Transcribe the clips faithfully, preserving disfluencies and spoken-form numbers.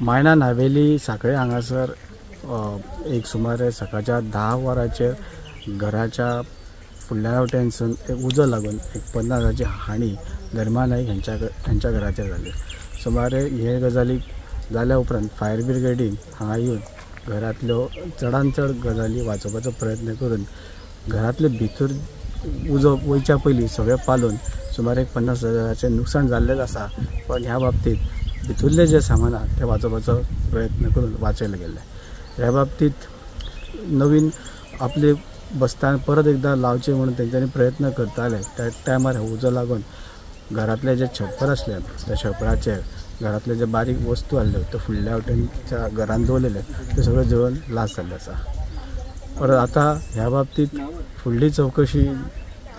मायणा नावेली साखळे हांगासर एक सुमारे सकाळच्या धा वरांचेर घराच्या फुडल्या वटेनसून एक उजो लागून एक पन्नास हजाराची हानी धर्मा नायक हेंच्या हेंच्या घराचेर जाली. सुमारे हे गजालीक जाल्या उपरांत फायर ब्रिगेडीन हांगा येवन घरांतल्यो चडान चड गजाली वाचोवपाचो प्रयत्न करून घरांतले भितर उजो वयच्या पयलीं सगळें पालोवन सुमार एक पन्नास हजाराचें नुकसाण जाल्लेंच आसा, पण ह्या बाबतींत भितरलें जें सामान आसा तें वाचोवपाचो प्रयत्न करून वाचयलें गेल्लें. ह्या बाबतींत नवीन आपले बस्तान परत एकदां लावचें म्हणून तेंच्यांनी प्रयत्न करताले. त्या टायमार उजो लागून घरांतलें जें छप्पर आसलें त्या छप्पराचेर घरांतले जे बारीक वस्तू आसल्यो त्यो फुडल्या वटेनच्या घरान दवरलेले त्यो सगळ्यो जळून लास जाल्ले आसा. परत आतां ह्या बाबतींत फुडली चवकशी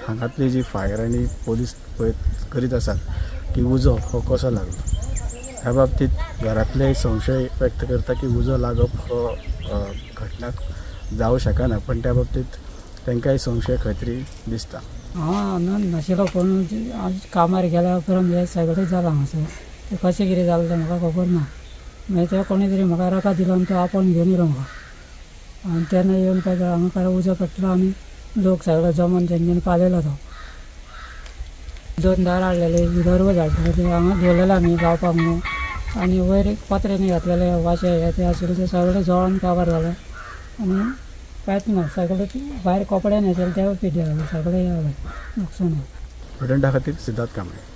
हांगातली जी फायर आनी पोलीस पळय करीत आसात की उजो हो कसो लागलो. ह्या बाबतींत घरांतले संशय व्यक्त करता की उजो लागप हो घटना जावं शकना, पण त्या बाबतींत तांकांय संशय खंय तरी दिसता. हांव आनंद नाशिल्लो कोण आज कामार गेल्या उपरांत हें सगळें जालां हांगासर. तें कशें कितें जालें तें म्हाका खबर ना. मागीर ते कोणी तरी म्हाका रकाद दिलो आनी तो आपोवन घेवन येयलो म्हाका. आनी तेन्ना येवन काय हांगा काय उजो पेटलो आनी लोक सगळे जमोन तेंच्यांनी पालयलो तो. दोन दार हाडलेले, दरवाज हाडलेले, ते हांगा दवरलेले आमी रावपाक म्हणून. आनी वयर एक पत्र्यांनी घातलेले वाशे हे ते आशिल्ले ते सगळे जळोन काबार जाले आनी कांयच ना. सगळे भायर कपडे न्हेसले तेवूय पिड्ड्यार जाले, सगळें हें जालें नुकसान जालें. प्रुडंटा खातीर सिद्धार्थ कांबळे.